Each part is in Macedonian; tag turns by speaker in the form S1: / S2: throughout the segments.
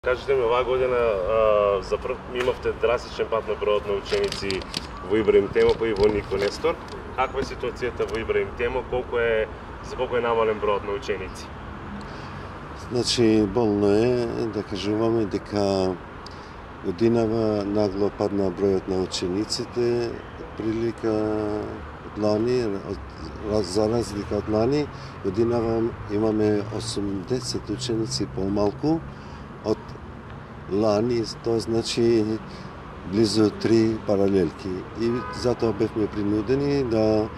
S1: Кажете ми, оваа година имавте драстичен пат на бројот на ученици во Ибраим Темопа и во Нико Нестор. Каква е ситуацијата во Ибраим Темо? За колку е намален бројот на ученици?
S2: Значи, болно е да кажуваме дека годинава нагло падна бројот на учениците, прилика од лани, за разлика од лани, годинава имаме 80 ученици помалку од лани, тоа значи близу 3 паралелки. И затоа бевме принудени да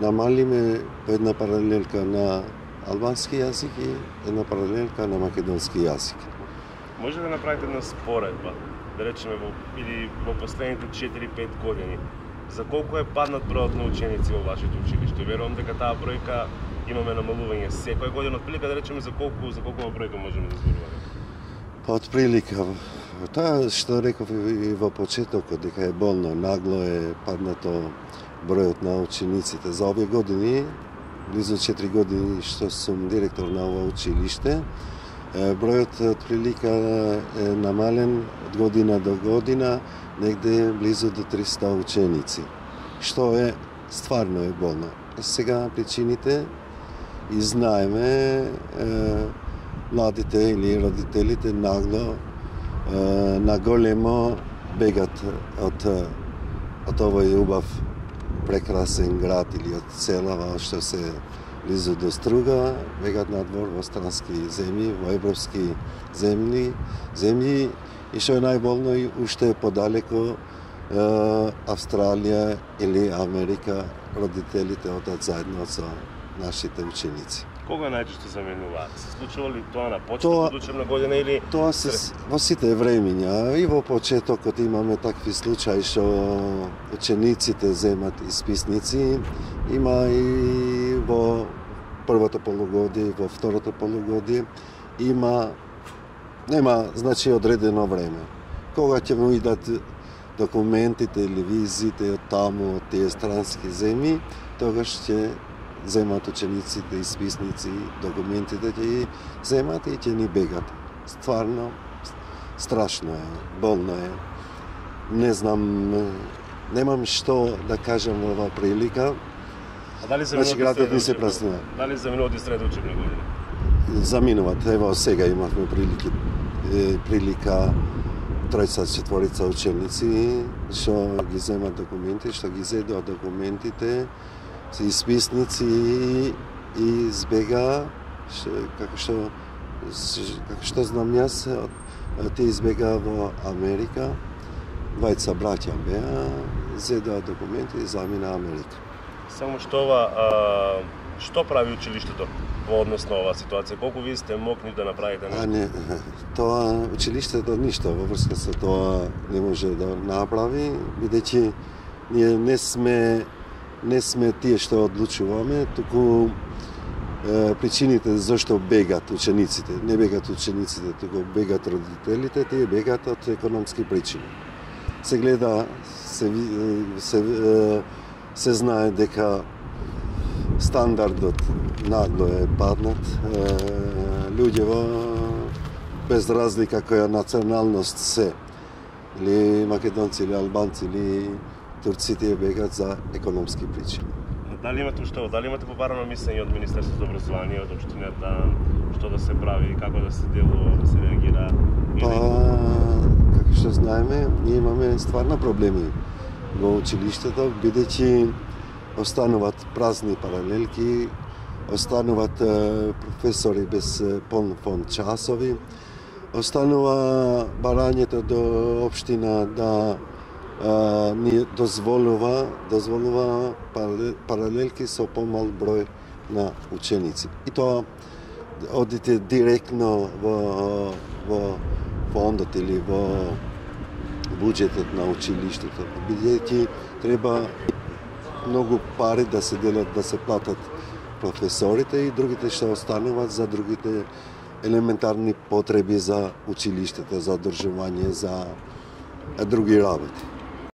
S2: намалиме по една паралелка на албански јазик и една паралелка на македонски јазик.
S1: Може да направите една споредба, да речеме во последните 4-5 години, за колку е паднат бројот на ученици во вашето училиште? Верувам дека таа бројка имаме намалување секоја година, отприлика да речеме за колку бројка можеме да зборуваме?
S2: Па отприлика, тоа што реков и во почетокот, дека е болно, нагло е паднато бројот на учениците. За овие години, близу 4 години што сум директор на ова училиште, бројот отприлика е намален од година до година, негде близу до 300 ученици, што е стварно е болно. Сега причините и знаеме, младите или родителите нагло наголемо бегат од овој убав прекрасен град или од селава што се близу до Струга, бегат надвор во странски земји, во европски земји и што е најболно и уште подалеку Австралија или Америка, родителите одат заедно со нашите ученици.
S1: Кога најчесто заменуваат? Се случува ли тоа на почетокот од учебна година или
S2: тоа се во сите времиња и во почетокот имаме такви случаи што учениците земат исписници, има и во првото полугодие, во второто полугодие нема значи одредено време. Кога ќе му идат документите или визите од таму, од тие странски земји, тогаш ќе земат учениците, исписници, документите ќе ги земат и ќе ни бегат. Стварно, страшно е, болно е. Не знам, немам што да кажам во оваа прилика.
S1: А дали
S2: значи градот ни се празнува.
S1: Дали заминуваат и среда учебна година?
S2: Заминуваат, ево сега имавме прилика тројца, четворица ученици што ги земат документи, што ги зедоа документите, се исписници и избега, како што знам јас, те избега во Америка, двајца браќа беа, зедоа документи и замина Америка.
S1: Само што прави училиштето во однос на оваа ситуација? Колку вие сте могли да направите нешто?
S2: Не, тоа училиштето ништо во врска со тоа не може да направи, бидејќи ние не сме тие што одлучуваме, туку причините зашто бегат учениците. Не бегат учениците, туку бегат родителите, тие бегат од економски причини. Се гледа, се знае дека стандардот нагло е паднат. Луѓето без разлика која националност се, или македонци, или албанци, или турците бегат за економски причини.
S1: Дали имате побарано мислење од Министерството за образование, од општината, што да се прави, како да се делува, да се реагира?
S2: Па, како што знаеме, ние имаме стварно проблеми во училиштето, бидејќи остануваат празни паралелки, остануваат професори без полн фонд часови, останува барањето до општина да ни дозволува паралелки со помал број на ученици. И тоа одите директно во фондот или во буџетот на училиштето, бидејќи треба многу пари да се делат, да се платат професорите и другите што остануваат за другите елементарни потреби за училиштето, за одржување, за други работи.